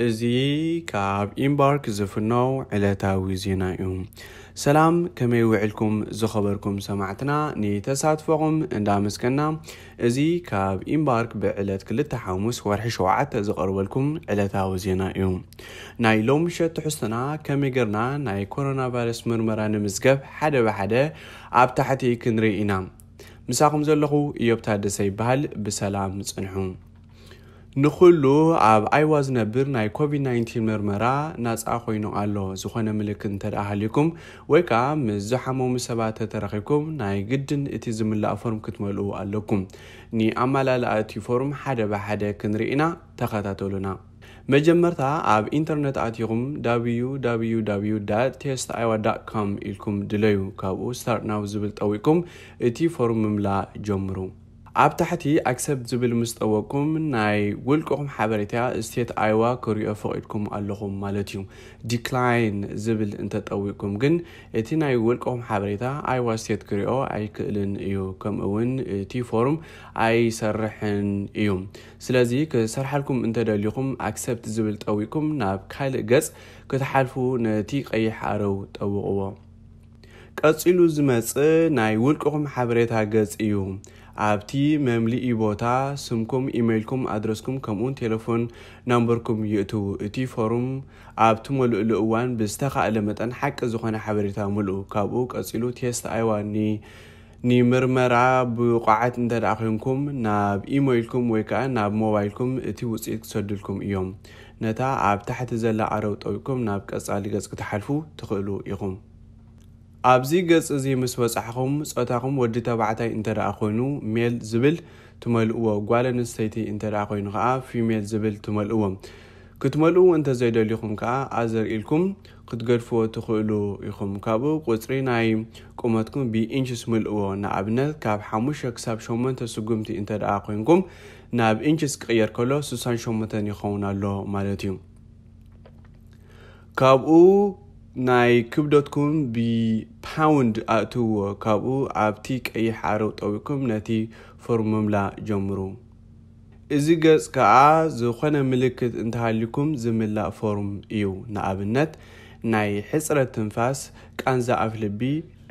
እዚ ካብ ኢምባርክ ዝፍነው ዕለታዊ ዜና እዩ። ሰላም፣ ከመይ ውዕልኩም ዝኸበርኩም ሰማዕትና? ንተሳትፎኹም እንዳመስገና፣ እዚ ካብ ኢምባርክ ብዕለት ክልተ ሓሙስ ወርሒ ሸውዓተ ዝቐርበልኩም ዕለታዊ ዜና እዩ። ናይ ሎም ምሸት ትሕዝቶና ከመይ ጌርና ናይ ኮሮና ቫይረስ ምርመራ ንምዝገብ ሓደ ብሓደ ኣብ ታሕቲ ክንርኢ ኢና። ምሳኹም ዘለኹ ኢዮብ ታደሰ ይበሃል። ብሰላም ጽንሑ። ንኹሉ ኣብ ኣይዋ ዝነብር ናይ ኮቪድ ናይንቲን ምርመራ ናጻ ኮይኑ ኣሎ። ዝኾነ ምልክት እንተ ደኣ ሃልዩኩም ወይ ከኣ ምስ ዝሓመሙ ሰባት ተተረኺብኩም፣ ናይ ግድን እቲ ዝምላእ ፎርም ክትመልኡ ኣለኩም። ንኣመላልኣ እቲ ፎርም ሓደ ብሓደ ክንርኢ ኢና። ተኸታተሉና። መጀመርታ ኣብ ኢንተርነት ኣቲኹም www test iowa com ኢልኩም ድለዩ። ካብኡ ስታርት ናው ዝብል ጠዊቅኩም እቲ ፎርም ምምላእ ጀምሩ። ኣብ ታሕቲ ኣክሰፕት ዝብል ምስ ጠወቅኩም፣ ናይ ውልቅኹም ሓበሬታ ስቴት ኣይዋ ክሪኦ ፈቒድኩም ኣለኹም ማለት እዩ። ዲክላይን ዝብል እንተጠዊቅኩም ግን፣ እቲ ናይ ውልቅኹም ሓበሬታ ኣይዋ ስቴት ክሪኦ ኣይክእልን እዩ። ከምኡ እውን እቲ ፎርም ኣይሰርሕን እዩ። ስለዚ ክሰርሓልኩም እንተደሊኹም፣ ኣክሰፕት ዝብል ጠዊቅኩም ናብ ካልእ ገጽ ክትሓልፉ ነቲ ቀይሕ ኣረው ጠውቕዎ። ቀጺሉ ዝመጽእ ናይ ውልቅኹም ሓበሬታ ገጽ እዩ። ኣብቲ መምልኢ ቦታ ስምኩም፣ ኢሜይልኩም፣ ኣድረስኩም፣ ከምኡውን ቴሌፎን ናምበርኩም ይእትዉ። እቲ ፎርም ኣብ ትመልእሉ እዋን ብዝተኻእለ መጠን ሓቂ ዝኾነ ሓበሬታ ምልኡ። ካብኡ ቀጺሉ ቴስት ኣይዋ ኒ-፣ ንምርመራ ብቑዓት እንተ ደኣ ኮይንኩም፣ ናብ ኢሜይልኩም ወይ ከኣ ናብ ሞባይልኩም እቲ ውጽኢት ክሰዱልኩም እዮም። ነታ ኣብ ታሕቲ ዘላ ኣረው ጠዊቅኩም ናብ ቀጻሊ ገጽ ክትሓልፉ ትኽእሉ ኢኹም። ኣብዚ ገጽ እዚ ምስ በጻሕኹም፣ ጾታኹም ወዲ ተባዕታይ እንተ ደኣ ኮይኑ ሜል ዝብል ትመልእዎ፣ ጓል ኣንስተይቲ እንተ ደኣ ኮይኑ ከኣ ፊሜል ዝብል ትመልእዎ። ክትመልእዎ እንተ ዘይደሊኹም ከኣ ኣዘር ኢልኩም ክትገድፍዎ ትኽእሉ ኢኹም። ካብኡ ቁጽሪ ናይ ቁመትኩም ብኢንችስ ምልእዎ። ንኣብነት ካብ ሓሙሽተ ክሳብ ሸሞንተ ስጉምቲ እንተ ደኣ ኮይንኩም፣ ናብ ኢንችስ ክቕየር ከሎ ስሳን ሸሞንተን ይኸውን ኣሎ ማለት እዩ። ካብኡ ናይ ክብደትኩም ብፓውንድ ኣእትውዎ። ካብኡ ኣብቲ ቀይሕ ኣረው ጠዊቅኩም ነቲ ፎርም ምምላእ ጀምሩ። እዚ ገጽ ከኣ ዝኾነ ምልክት እንተሃልዩኩም ዝምላእ ፎርም እዩ። ንኣብነት ናይ ሕጽረት ትንፋስ፣ ቃንዛ ኣፍልቢ፣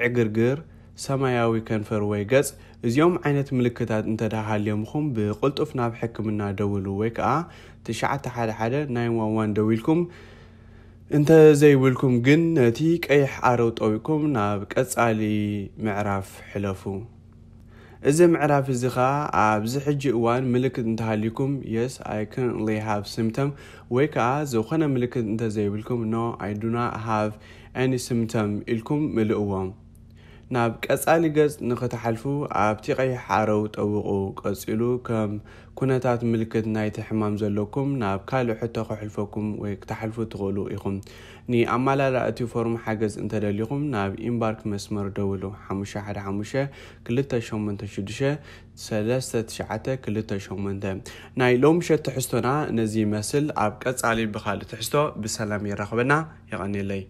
ዕግርግር፣ ሰማያዊ ከንፈር ወይ ገጽ። እዚኦም ዓይነት ምልክታት እንተ ደኣ ሃልዮምኹም ብቕልጡፍ ናብ ሕክምና ደውሉ ወይ ከኣ ትሽዓተ ሓደ ሓደ ናይን ዋን ዋን ደዊልኩም እንተ ዘይብልኩም ግን ነቲ ቀይሕ ኣረው ጠዊቅኩም ናብ ቀጻሊ ምዕራፍ ሕለፉ። እዚ ምዕራፍ እዚ ኸኣ ኣብዚ ሕጂ እዋን ምልክት እንተሃልዩኩም፣ yes, I currently have symptom፣ ወይ ከኣ ዝኾነ ምልክት እንተ ዘይብልኩም፣ no, I do not have any symptom ኢልኩም ምልእዎ። ናብ ቀጻሊ ገጽ ንኽትሓልፉ ኣብቲ ቀይሕ ኣረው ጠውቑ። ቀጺሉ ከም ኩነታት ምልክት ናይቲ ሕማም ዘለኩም ናብ ካልእ ሕቶ ከሕልፈኩም ወይ ክትሓልፉ ትኽእሉ ኢኹም። ንኣመላልኣ እቲ ፎርም ሓገዝ እንተደሊኹም ናብ ኢምባርክ መስመር ደውሉ፣ ሓሙሽተ ሓደ ሓሙሽተ ክልተ ሸሞንተ ሽዱሽተ ሰለስተ ትሽዓተ ክልተ ሸሞንተ። ናይ ሎምሸት ትሕዝቶና ነዚ ይመስል። ኣብ ቀጻሊ ብኻልእ ትሕዝቶ ብሰላም የራኽበና። የቐንየለይ።